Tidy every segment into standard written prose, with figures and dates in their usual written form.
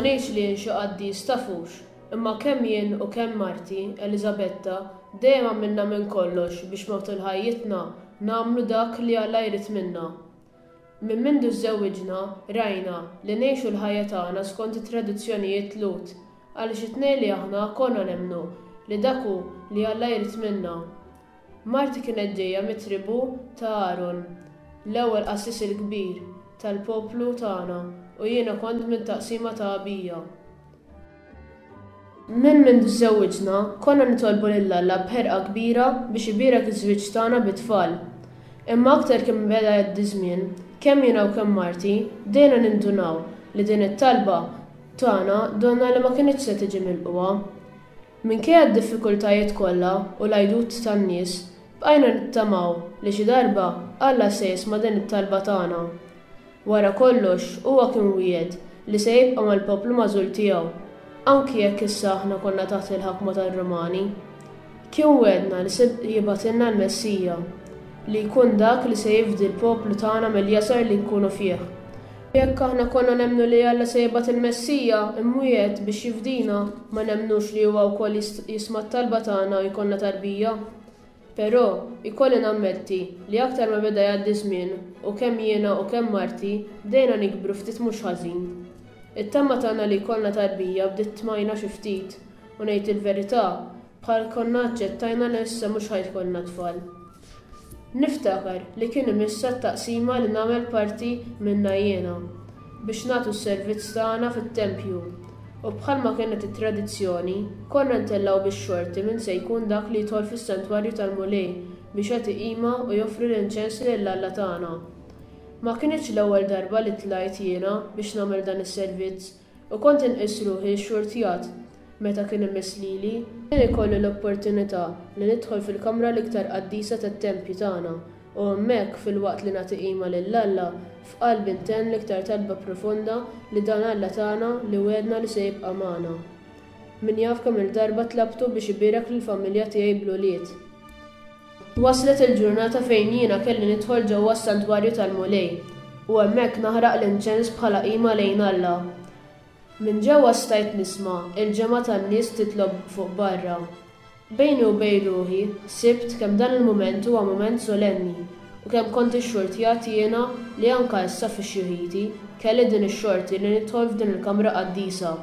Ma ngħidx li jien xi qaddis tafux, imma kemm jien u kemm marti, Eliżabetta, dejjem għamilna minn kollox biex matul ħajjitna nagħmlu dak li Alla jrid minna. Minn mindu żżewwiġna, rajna li ngħixu l-ħajja tagħna skont it-tradizzjonijiet Lhud, għaliex it-tnejn li aħna konna nemmnu li dak hu li Alla jrid minna. Marti kienet ġejja mit-tribù ta' Aron, l-ewwel qassis il-kbir tal-poplu tagħna, u jiena kont mit-taqsima ta' Abija. Minn mindu żżewwiġna, konna nitolbu lil Alla b'ħerqa kbira biex ibierek iż-żwieġ tagħna bit-tfal. Imma aktar kemm beda jgħaddi ż-żmien, kemm jiena u kemm marti bdejna nindunaw li din it-talba tagħna donnha li ma kinitx se tiġi milqugħa. Minkejja d-diffikultajiet kollha u l-għajdut tan-nies, bqajna nittamaw li xi darba Alla se jisma' din it-talba tagħna. Wara kollox, huwa kien wiegħed li se jibqa' mal-poplu magħżul tiegħu, anki jekk issa aħna konna taħt il-ħakma tar-Rumani. Kien wegħedna li se jibgħatilna l-Messija, li jkun dak li se jifdi l-poplu tagħna mill-jasar li nkunu fih. Jekk aħna konna nemmnu li Alla se jibgħat il-Messija imwiegħed biex jifdina, ma nemmnux li huwa wkoll jisma' t-talba tagħna u jkollna tarbija? Però, ikolli nammetti li aktar ma beda jgħaddi ż-żmien u kemm jiena u kemm marti bdejna nikbru ftit mhux ħażin. It-tama tagħna li jkollna tarbija bdiet tmajna xi ftit u ngħid il-verità, bħal konna aċċettajna li issa mhux ħa jkollna tfal. Niftakar li kien imissha t-taqsima li nagħmel parti minnha jiena, biex nagħtu s-servizz tagħna fit-tempju, u bħalma kienet it-tradizzjoni, konna ntellgħu bix-xorti min se jkun dak li jidħol fis-santwarju tal-Mulej biex jagħti qima u joffri l-inċens lil Alla tagħna. Ma kinitx l-ewwel darba li tlajt jiena biex nagħmel dan is-servizz, U kont inqis ruħi xxurtjat meta kien imiss lili. Kien ikolli l-opportunità li nidħol fil-kamra l-iktar qaddisa tat-tempju tagħna u hemmhekk, filwaqt li nagħti qima lil Alla, f'qalbi ntenn l-iktar talba profonda li dan Alla tagħna li wegħedna li se jibqa' magħna. Min jaf kemm-il darba tlabtu biex ibierek lill-familja tiegħi bl-ulied. Waslet il-ġurnata fejn jiena kelli nidħol ġewwa s-santwarju tal-Mulej u hemmhekk naħraq l-inċens bħala qima lejn Alla. Minn ġewwa stajt nisma' l-ġemgħa tan-nies titlob fuq barra. Bejni u bejn ruħi ħsibt kemm dan il-mument huwa mument solenni u kemm kont ixxurtjat jiena li anke issa fi xjuħiti kelli din ix-xorti li nidħol f'din il-kamra qaddisa.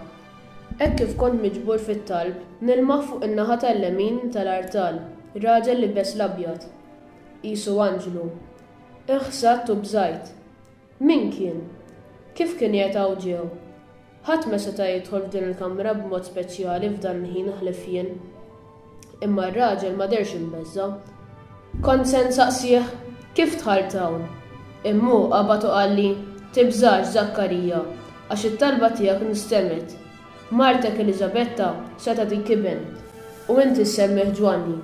Hekk kif kont miġbur fit-talb, nilmaħ fuq in-naħa tal-lemin tal-artal, raġel liebes l-abjad. Qisu anġlu. Inħsadt u bżajt. Min kien? Kif kien qiegħed hawn ġew? Ħadd ma seta' jidħol f'din il-kamra b'mod speċjali f'dan il-ħin ħlief jien. Imma r-raġel ma dehrx imbeżża'. Kont se nsaqsih, Kif dħalt hawn? Imma hu qabad u qalli, Tibżax, Żakkarija, għax it-talba tiegħek instemgħet. Martek Eliżabetta se tagħtik iben, u inti ssemmih Ġwanni.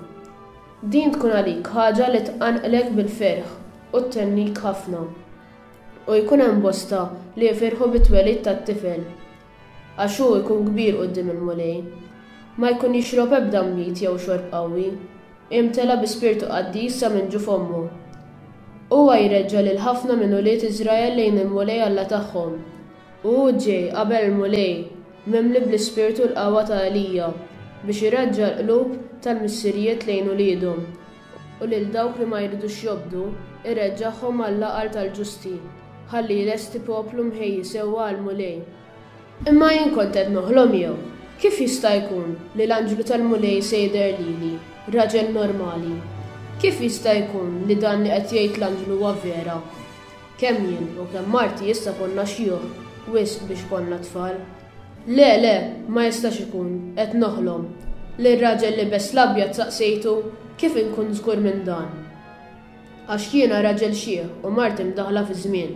Din tkun għalik ħaġa li tqanqlek bil-ferħ u thennik ħafna. U jkun hemm bosta li jifirħu bit-twelid tat-tifel. Għax hu jkun kbir quddiem il-Mulej. Ma jkun jixrob ebda nbid jew xorb qawwi. Imtela bi spirtu qaddis sa minn ġuf ommu. Huwa jreġġa' lil ħafna minn ulied Iżrael lejn il-Mulej Alla tagħhom. U hu ġej qabel il-Mulej, mimli bl-ispirtu u l-qawwa ta' Elija, biex ireġġa' l-qlub tal-missirijiet lejn uliedhom, u lil dawk li ma jridux jobdu, ireġġagħhom għall-għaqal tal-ġusti. Ħalli jlesti poplu mħejji sewwa għall-Mulej. Imma jien kont qed noħlom jew? Kif jista' jkun li l-anġlu tal-Mulej se jidher lili, raġel normali? Kif jista' jkun li dan li qed jgħid l-anġlu huwa vera? Kemm jien u kemm marti issa konna xjuħ wisq biex konna tfal. Le, le, ma jistax ikun, qed noħlom. Lir-raġel liebes l-abjad saqsejtu, Kif inkun żgur minn dan? Għax jiena raġel xiħ u marti mdaħħla fiż-żmien.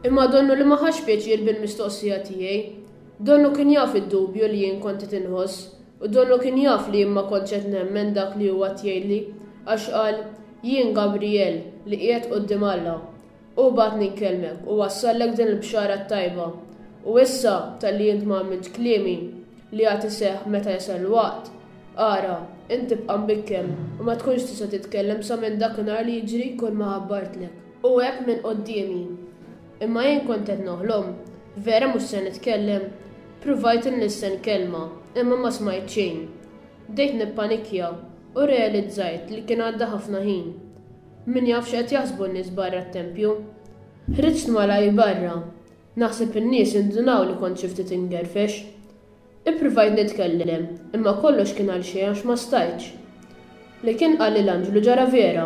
Imma donnu li ma ħax pjaċir bil-mistoqsija tiegħi. Donnu kien jaf id-dubju li jien kont qed inħoss u donnu kien jaf li jien ma kontx qed nemmen dak li huwa qed jgħidli, għax qal, Jien Gabrijel, li qiegħed quddiem Alla. Hu bagħatni nkellmek u wassallek din il-bxara t-tajba. U issa, talli int ma emmintx kliemi, li għad iseħħ meta jasal il-waqt, ara, int tibqa' mbikkem u ma tkunx tista' titkellem sa minn dakinhar li jiġri kulma ħabbartlek. U għeb minn quddiemi. Imma jien kont qed noħlom. Vera mhux se nitkellem? Pruvajt inlissen kelma, imma ma smajt xejn. Bdejt nippanikkja u rrealizzajt li kien għadda ħafna ħin. Min jaf x'qed jaħsbu n-nies barra t-tempju. Ħriġt malajr barra. Naħseb in-nies indunaw li kont xi ftit ingerfex. Ippruvajt nitkellem, imma kollox kien għalxejn għax ma stajtx. Li kien qalli l-anġlu ġara vera.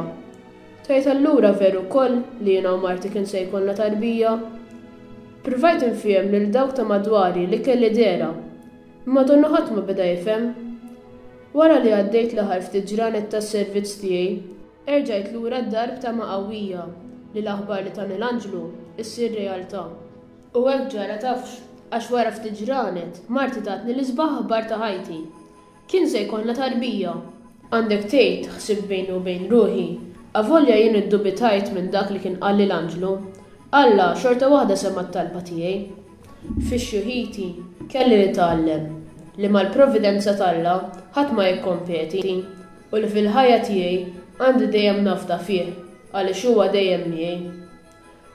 Tgħid allura veru wkoll li jiena u marti kien se jkollna tarbija? Ppruvajt infiehem lil dawk ta' madwari li kelli dehra, imma donnu ħadd ma beda jifhem. Wara li għaddejt l-aħħar ftit ġranet tas-servizz tiegħi, erġajt lura d-dar b'tama qawwija li l-aħbar li tani l-anġlu ssir realtà. U hekk ġara tafx, għax wara ftit ġranet, marti tatni l-isbaħ aħbar ta' ħajti. Kien se jkollna tarbija! Għandek tgħid, ħsibt bejni u bejn ruħi, avolja jien iddubitajt minn dak li kien qalli l-anġlu, Alla xorta waħda sema' t-talba tiegħi. Fi xjuħiti, kelli nitgħallem li mal-providenza t'Alla ħadd ma jikkompeti u li fil-ħajja tiegħi għandi dejjem nafda fih għaliex huwa dejjem miegħi.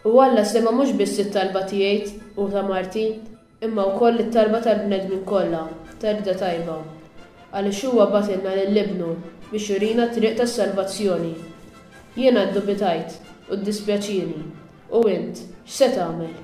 U Alla sema' mhux biss it-talba tiegħi u ta' marti, imma wkoll it-talba tal-bnedmin kollha ta' rieda tajba, għaliex huwa bagħtilna lil Ibnu biex jurina t-triq tas-salvazzjoni. Jiena ddubitajt u ddispjaċieni, u int, x'se tagħmel?